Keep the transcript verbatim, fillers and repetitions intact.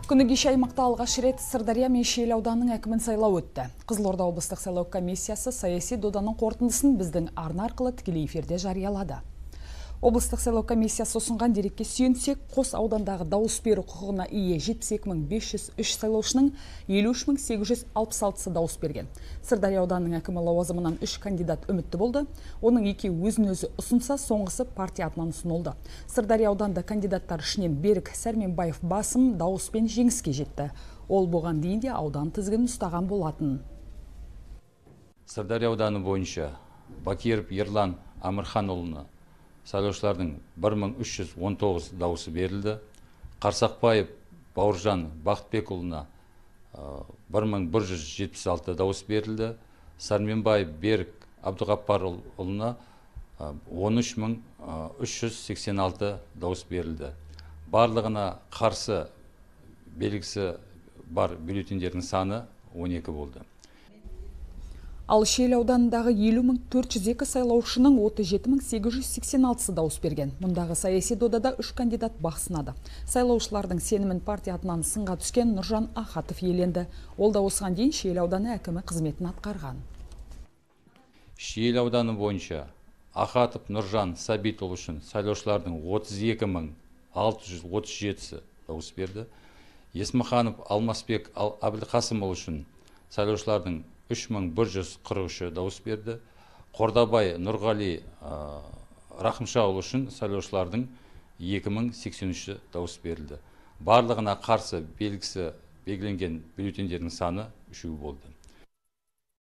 Күні кеше аймақта алғаш рет Сырдария мен Шиелі ауданының әкімін сайлау өтті. Қызылорда облыстық сайлау комиссиясы саяси доданың қорытындысын біздің арна арқылы тікелей эфирде жариялады. Облыстық сайлау комиссиясы ұсынған дерекке сүйенсек, қос аудандағы дауыс беру құқығына ие жетпіс екі мың бес жүз үш сайлаушының елу үш мың сегіз жүз алпыс алтысы дауыс берген. Сырдария ауданының әкімі лауазымынан үш кандидат үмітті болды. Оның екеуі өзін өзі ұсынса, соңғысы партия атынан ұсынылды. Сырдария ауданында кандидаттар ішінен Берік Сәрменбаев басым дауыспен жеңіске жетті. Ол бұған дейін де аудан тізгінін ұстаған болатын. Сырдария ауданы бойынша Бакиров Ерлан Амырханұлына сайлаушылардың бір мың үш жүз он тоғыз дауысы берілді. Қарсақбаев Бауыржан Бақытбекұлына бір мың бір жүз жетпіс алты дауыс берілді. Сәрменбаев Берік Абдуғаппарұлына он үш мың үш жүз сексен алты дауыс берілді. Барлығына қарсы белгісі бар бюллетендердің саны он екі болды. Ал Шиелі ауданындағы елу мың төрт жүз екі сайлаушының отыз жеті мың сегіз жүз сексен алтысы дауыс берген. Мұндағы саяси додада үш кандидат бақ сынады. Сайлаушылардың сенімін партия атынан сынға түскен Нұржан Ахатов иеленді. Ол да осыған дейін Шиелі ауданы әкімі қызметін атқарған. Шиелі ауданы бойынша Ахатов Нұржан Сабитұлы үшін сайлаушылардың отыз екі мың алты жүз отыз жетісі дауыс берді. Есмаханов Алмасбек Әбілқасымұлы үшін сайлаушылардың үш мың бір жүз қырық үші дауыс берді. Қордабай Нұрғали Рахымшаұлы үшін сайлаушылардың екі мың сексен үші дауыс берілді. Барлығына қарсы белгісі белгіленген бюллетендердің саны үшеу болды.